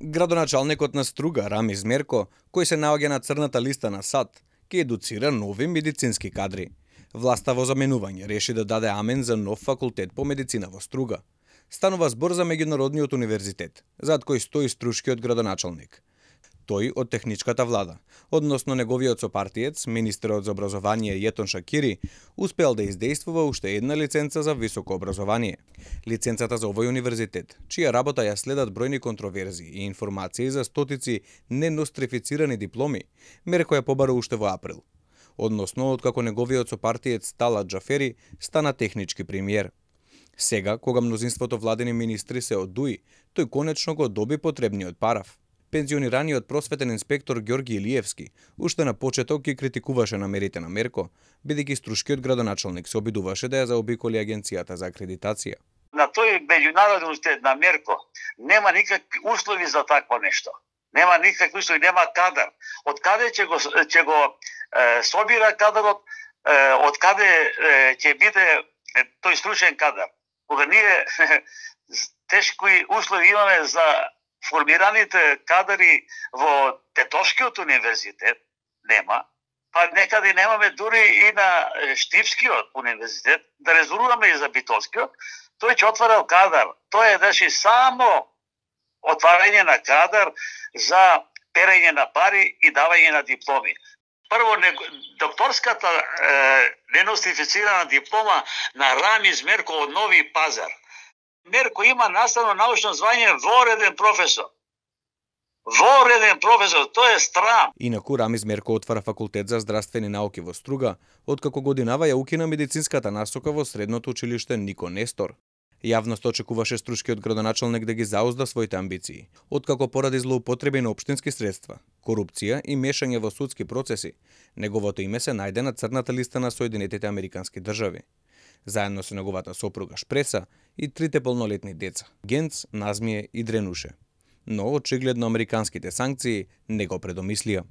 Градоначалникот на Струга, Рамиз Мерко, кој се наоѓа на црната листа на САД, ќе едуцира нови медицински кадри. Власта во заменување реши да даде амен за нов факултет по медицина во Струга. Станува збор за меѓународниот универзитет, зад кој стои струшкиот градоначалник. Тој од техничката влада, односно неговиот сопартиец, министерот за образование Јетон Шакири, успеал да издействува уште една лиценца за високо образование. Лиценцата за овој универзитет, чија работа ја следат бројни контроверзии и информации за стотици ненострифицирани дипломи, Мерко ја побара уште во април. Односно, откако неговиот сопартиец Талат Џафери стана технички премиер. Сега, кога мнозинството владени министри се одуи, тој конечно го доби потребниот параф. Пензионираниот просветен инспектор Ѓорги Илиевски уште на почеток ги критикуваше намерите на Мерко, бидејќи струшкиот градоначалник се обидуваше да ја заобиколи агенцијата за акредитација. На тој меѓународен универзитет на Мерко нема никакви услови за такво нешто. Нема никакви услови, нема кадар. Од каде ќе го собира кадарот, од каде ќе биде тој стручен кадар? Кога ние тешки услови имаме за формираните кадари во Тетошкиот универзитет, нема, па некаде немаме дури и на Штипскиот универзитет, да резервуваме и за Битолскиот, тој ќе отварал кадар. Тоа е значи само отварање на кадар за перење на пари и давање на дипломи. Прво, докторската ненострифицирана диплома на Рамиз Мерко од Нови Пазар. Мерко има наставно научно звање вореден професор. Вореден професор, тоа е страм. Инаку Рамиз Мерко отвара факултет за здравствени науки во Струга, откако годинава ја укина медицинската насока во средното училиште Нико Нестор. Јавност очекуваше струшкиот градоначалник да ги заузда своите амбиции, откако поради злоупотреби на општински средства, корупција и мешање во судски процеси, неговото име се најде на црната листа на Соединетите Американски држави, заедно со неговата сопруга Шпреса и трите полнолетни деца – Генц, Назмие и Дренуше. Но очигледно американските санкции не го предомислија.